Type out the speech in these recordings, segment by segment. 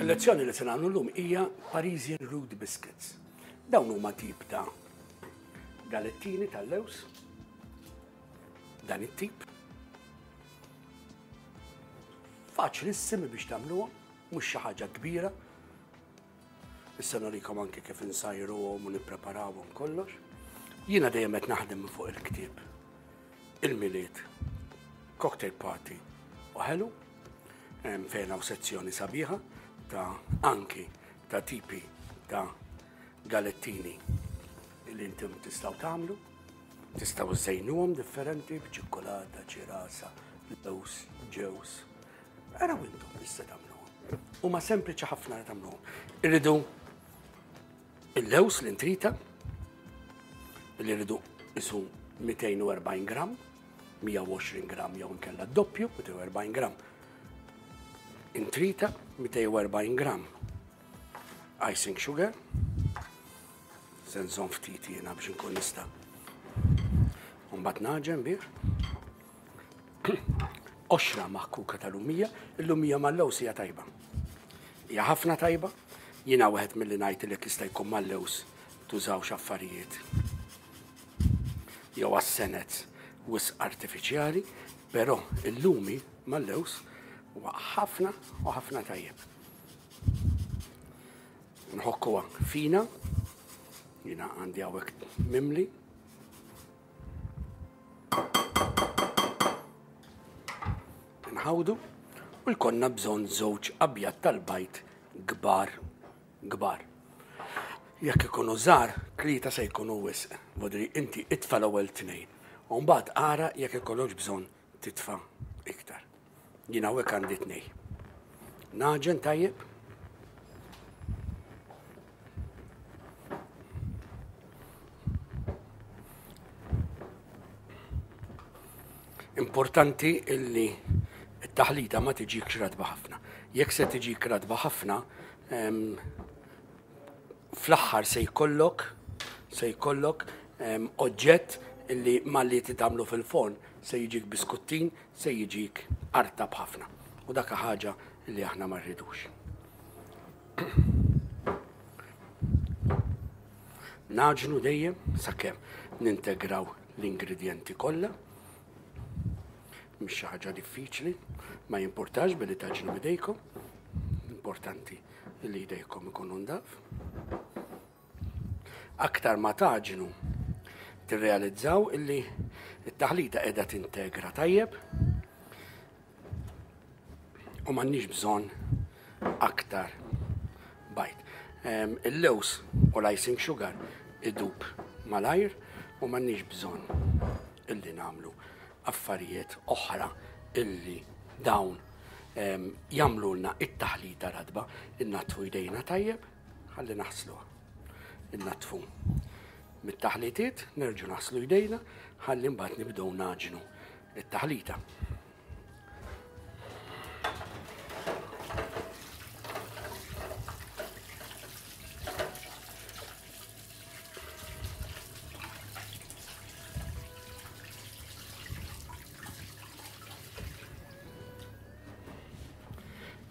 Il-lezzjoni li se nagħmlu llum hija Parisian Root Biscuits. Dawn huma tip ta' galettini tal-lews, dan it-tip. Faċlissimi biex tagħmluhom, mhux xi ħaġa kbira. Issa nurikom anke kif insajruhom u nippreparawhom kollox. Jiena dejjem qed naħdem minn fuq il-ktieb. Il-Milied, Cocktail Party u ħelu, fejn hawn sezzjoni sabiħa ta' anki ta' tipi ta' galettini li intom tistgħu tagħmlu. Tistgħu żejnuhom differenti b'ċikkulata, ċirasa, lews, ġews. Araw intom issa tagħmluhom. Huma sempliċi ħafna li tagħmluhom. Irridu il-lews l-intrita li rridu isu 240 gram, 120 gram jew inkella doppju, 240 gram. Intrita 240 gram icing sugar, se nżomm ftit jiena biex inkun nista' Mbagħad naġen bih. Qoxra maħkuka ta' lumija, il-lumija mal-lews hija tajba. Hija ħafna tajba, jiena wieħed milli ngħid li jista' jkun mal-lews tużawx affarijiet jew għas-senet wisq artifiċjali, però il-lumi mal-lews huwa ħafna u ħafna tajjeb. Nħokkuha fina, jiena għandi hawnhekk mimli. Nħawdu u jkollna bżonn żewġ abjad tal-bajd kbar kbar. Jekk ikunu żgħar, tlieta se jkunu wisq. Vodri inti itfa' l-ewwel tnejn. U mbagħad ara jekk ikollokx bżonn titfa' iktar. Jien hawnhekk għandi tnej. Naġen tajjeb. Importanti illi t-taħlita ma tiġikx ratba ħafna. Jekk se tiġik ratba ħafna, fl-aħħar se jkollok se jkollok oġġett illi malli titgħamlu fil-forn se jiġik biskuttin, se jiġik artab ħafna. U dak ħaġa li aħna ma rridux. Naġnu dejjem sakemm nintegraw l-ingredjenti kollha. Mhix xi ħaġa diffiċli, ma jimpurtax billi taġnu bidejkom. Importanti li jdejkom ikunu ndaf. Aktar ma taġnu tirrealizzaw illi t-taħlita qiegħda tintegra tajjeb u m'għandniex bżonn aktar bajd. Il-lews u l-icing sugar idub malajr u m'għandniex bżonn illi nagħmlu affarijiet oħra illi dawn jagħmlulna it-taħlita radba, innatfu jdejna tajjeb ħalli naħsluha. Innatfu mit-taħlitiet, nerġu naħslu jdejna ħalli mbagħad nibdew naġnu it-taħlita.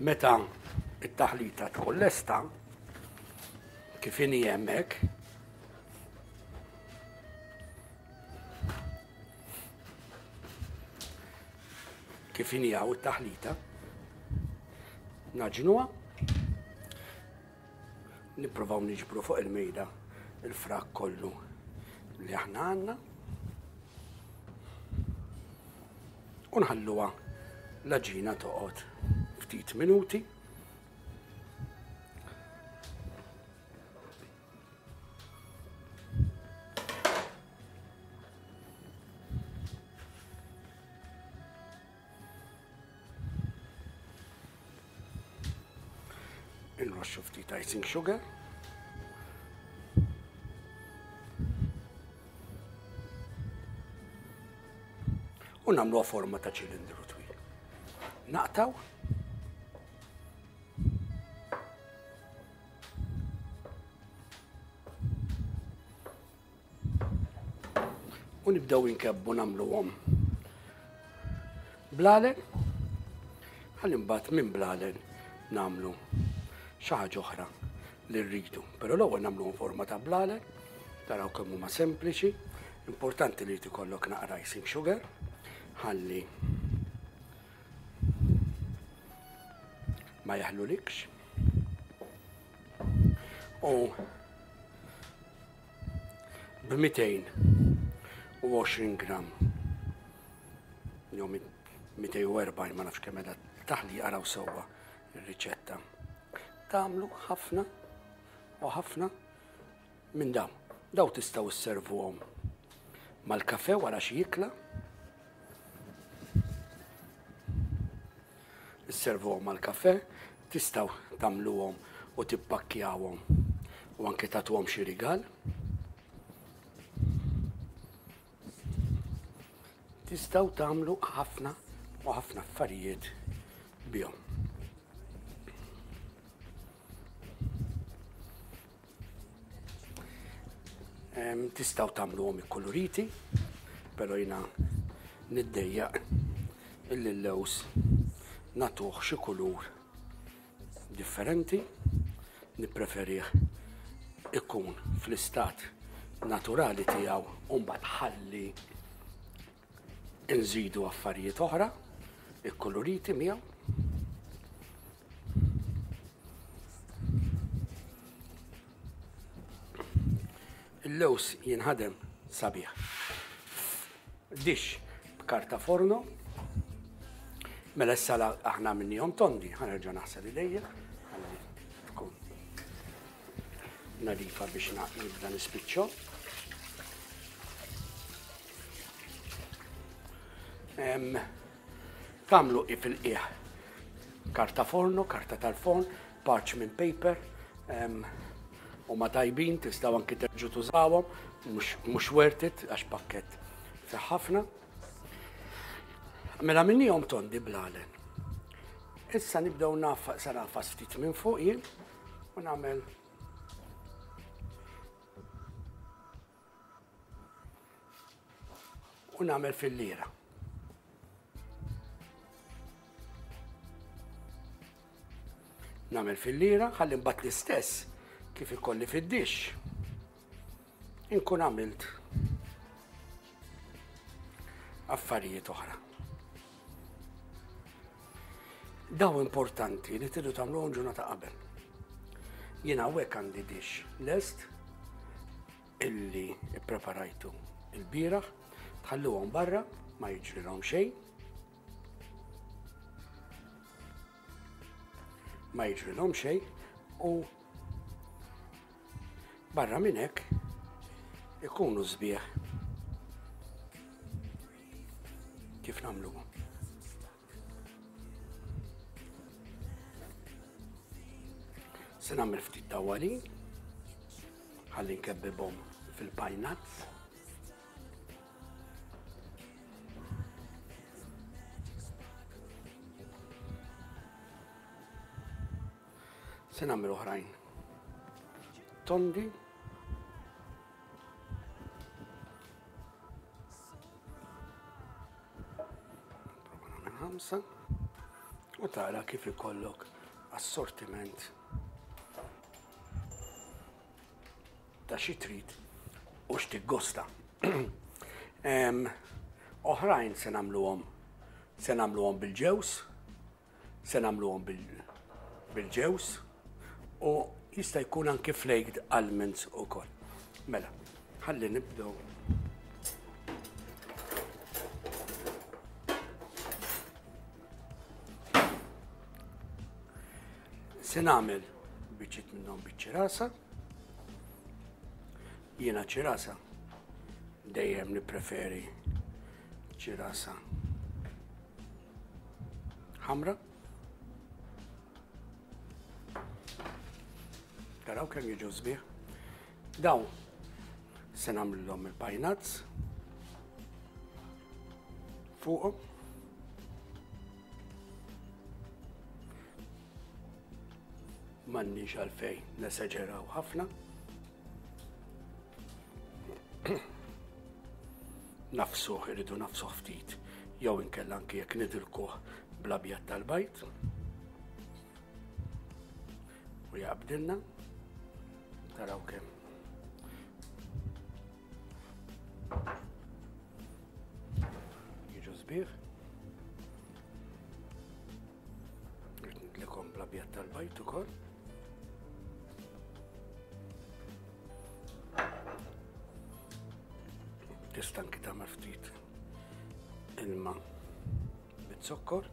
Meta it-taħlita tkun lesta, kif inhi hemmhekk, kif inhi hawn it-taħlita, naġnuha, nippruvaw niġbru fuq il-mejda il-frak kollu li aħna għandna. U nħalluha l-għaġina toqgħod ftit minuti. Inroxxu ftit icing sugar. U nagħmluha forma ta' ċilindru twil. Naqtaw. U nibdew inkebbu nagħmluhom blalen. Ħalli mbagħad minn blalen nagħmlu. xi ħaġa oħra li rridu. Però l-ewwel nagħmluhom forma ta' blalen, taraw kemm huma sempliċi, importanti li jkollok naqra icing sugar, ħalli ma jaħlulikx. U b'220 gram jew 240 ma nafx kemm qiegħda taħli araw sewwa ir-riċetta. Tagħmlu ħafna u ħafna minn dawn. Daw tistgħu sservuhom mal-kafe wara xi ikla. Isservuhom mal-kafe, tistgħu tagħmluhom u tippakkjawhom u anke tagħtuhom xi rigal. Tistgħu tagħmlu ħafna u ħafna affarijiet bihom. Tistgħu tagħmluhom ikkuluriti, però jiena niddejjaq illi l-lews nagħtuh xi kulur differenti, nippreferih ikun fl-istat naturali tiegħu u mbagħad ħalli nżidu affarijiet oħra ikkuluriti miegħu. Il-lews jinħadem sabiħ. Dix b'karta forno. Mela issa aħna minnihom tondi, ħanerġa' naħsel idejja, ħalli tkun nadifa biex nibda nispiċċo. Tagħmlu fil-qiegħ karta forno, karta tal-forn, parchment paper, huma tajbin, tistgħu anki terġgħu tużawhom, mhux worth it għax pakkett fih ħafna. Mela minnihom tondi blalen. Issa nibdew naf sa nafas ftit minn fuq jien u nagħmel u nagħmel fil-lira. Nagħmel fil-lira ħalli mbagħad l-istess kif ikolli fid-dixx. Inkun għamilt affarijiet oħra. Daw importanti li tridu tagħmluhom ġurnata qabel. Jiena hawnhekk għandi dix lest illi ippreparajtu il-bieraħ, tħalluhom barra, ma jiġrilhom xejn. Ma jiġrilhom xejn u barra minn hekk ikunu sbieħ kif nagħmluhom. Se nagħmel ftit tawwalin ħalli nkebbibhom fil-pajnazz. Se nagħmel oħrajn tondi. Prova nagħmel ħamsa u tara kif ikollok assortiment ta' xi trid u x'tiggosta. Oħrajn se nagħmluhom se nagħmluhom bil-ġews, Se nagħmluhom bil-ġewż u jista' jkun anki flaked almonds ukoll. Mela, ħalli nibdew Se nagħmel biċċiet minnhom biċ-ċirasa. Jiena ċirasa dejjem nippreferi ċirasa ħamra. Taraw kemm jiġu sbieħ. Daw se nagħmlilhom il-pajnazz fuqhom. M'għandniex għalfejn nesaġeraw ħafna. Nafsuh, irridu nafsuh ftit, jew inkella anki jekk nidilkuh bl-abjad tal-bajd. U jaqbdilna. Taraw kemm. Jiġu sbieħ. Nidlikom bl-abjad tal-bajt ukoll. Tista' anki tagħmel ftit ilma bit-zokkor.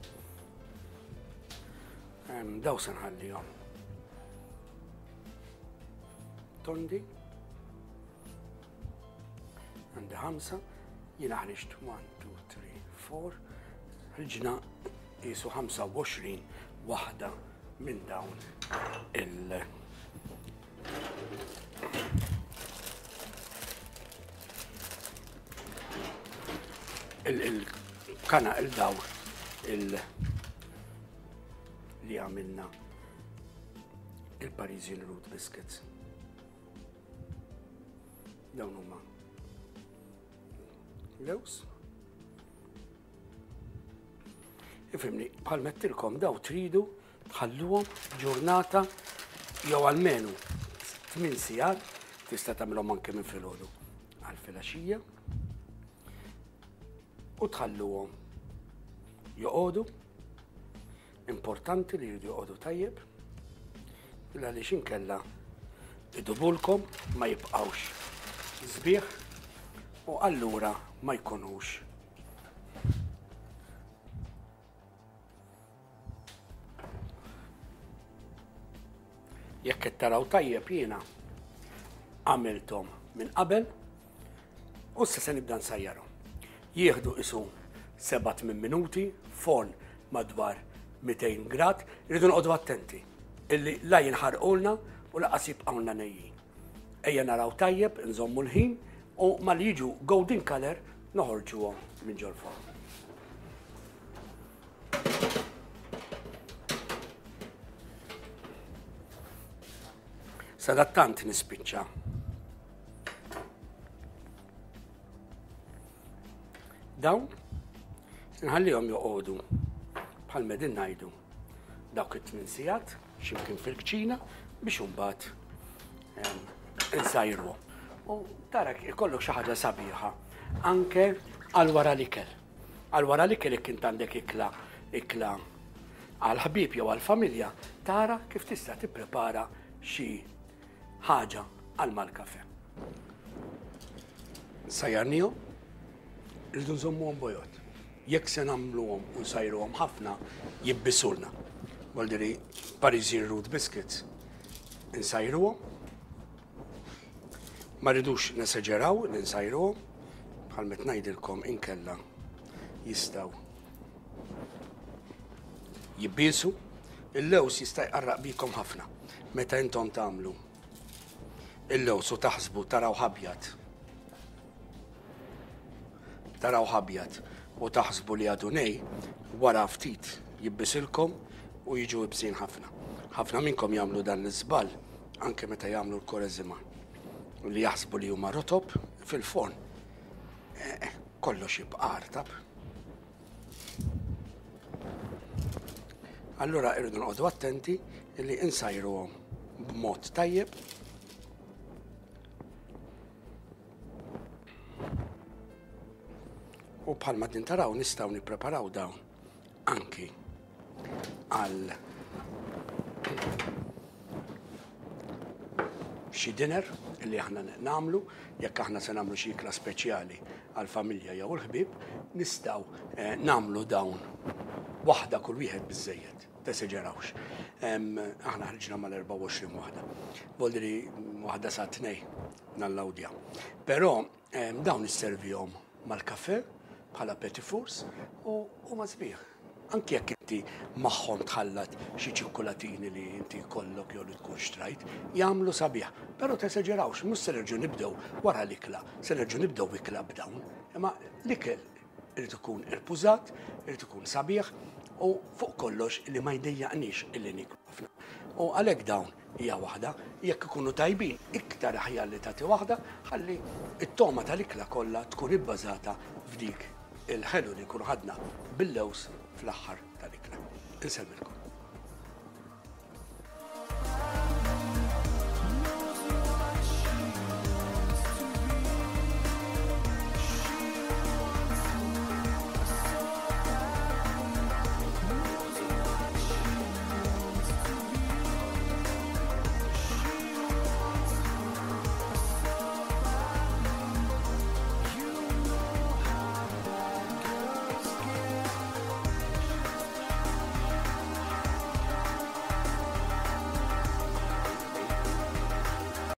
Daw se nħallihom. Tondi. Għandi ħamsa, jiena ħriġt 1, 2, 3, 4, ħriġna jisu 25 waħda minn dawn il- il-kana il-daw il- li għamilna il-Parisian Root Biscuits. Dawn huma lews. Ifimni, bħal mettilkom daw tridu tħalluhom ġurnata jew almenu 8 sigħat tista' tagħmilhom anke minn filgħodu għal filgħaxija u tħalluhom joqogħdu Importanti li jridu joqogħdu tajjeb, għaliex inkella idubulkom ma jibqgħux sbieħ u allura ma jkunux Jekk qed taraw tajjeb jiena għamilthom minn qabel U issa se nibda nsajjarhom. Jieħdu isu 7-8 minuti, forn madwar 200 grad, irridu noqogħdu attenti illi la jinħarqulna u laqas jibqgħulna nejjin. Ejja naraw tajjeb, nżommu l-ħin u mal jiġu golden color noħorġuhom minn ġol-forn. Sadattant nispiċċa. Dawn nħallihom joqogħdu bħal medin ngħidu dawk it-tmien sigħat x'imkien fil-kċina biex imbagħad insajruhom. U tara ikollok xi ħaġa sabiħa anke għal wara l-ikel. Għal wara l-ikel jekk int għandek ikla ikla għal ħbieb jew għal familja, tara kif tista' tipprepara xi ħaġa għal mal-kafe. Sajjarnihom, rridu nżommuhom bojod. Jekk se nagħmluhom u nsajruhom ħafna, jibbisulna. Voldiri Parisian Root Biscuits. Insajruhom. Ma rridux neseġeraw li nsajruhom, bħal met ngħidilkom inkella jistgħu jibbisu. Il-lews jista' jqarraq bikom ħafna meta intom tagħmlu il-lews u taħsbu taraw ħabjad. Taraw ħabjad u taħsbu li għadu nej, wara ftit jibbisilkom u jiġu ibsin ħafna. Ħafna minnkom jagħmlu dan l-iżball anke meta jagħmlu l-koreżima li jaħsbu li huma rotob fil-forn. Eh, eh, kollox jibqa' artab. Allura irridu noqogħdu attenti li insajruhom b'mod tajjeb. U bħalma din taraw nistgħu nippreparaw dawn anki għal xi dinner li aħna nagħmlu, jekk aħna se nagħmlu xi ikla speċjali għal familja jew il-ħbieb, nistgħu eh, nagħmlu dawn waħda kull wieħed biżejjed, teseġerawx. Aħna ħriġna mal-24 waħda. Voldri waħda sa tnej nallawdja. Però Dawn isservihom mal-kafè bħala petit fours u huma sbieħ. Anki jekk inti magħhom tħallat xi ċikkulatini li inti jkollok jew li tkun xtrajt, jagħmlu sabiħ. Però teseġerawx, mhux se nerġgħu nibdew wara l-ikla, se nerġgħu nibdew ikla b'dawn. Imma l-ikel irid ikun irpużat, irid ikun sabiħ u fuq kollox li ma jdejjaqniex illi niklu ħafna. U għalhekk dawn hija waħda, jekk ikunu tajbin, iktar aħjar li tagħti waħda ħalli t-togħma tal-ikla kollha tkun ibbażata f'dik il-ħelu li nkunu ħadna bil-lewż fl-aħħar tal-ikla. Insellmilkom.